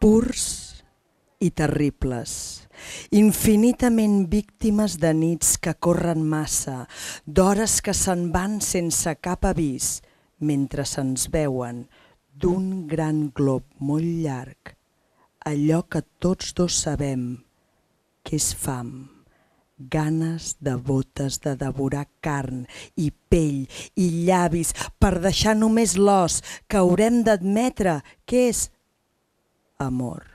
purs i terribles, infinitament víctimes de nits que corren massa, d'hores que se'n van sense cap avís, mentre se'ns veuen d'un gran glob molt llarg, allò que tots dos sabem, que és fam, ganes devotes de devorar carn i pell i llavis per deixar només l'os que haurem d'admetre que és amor.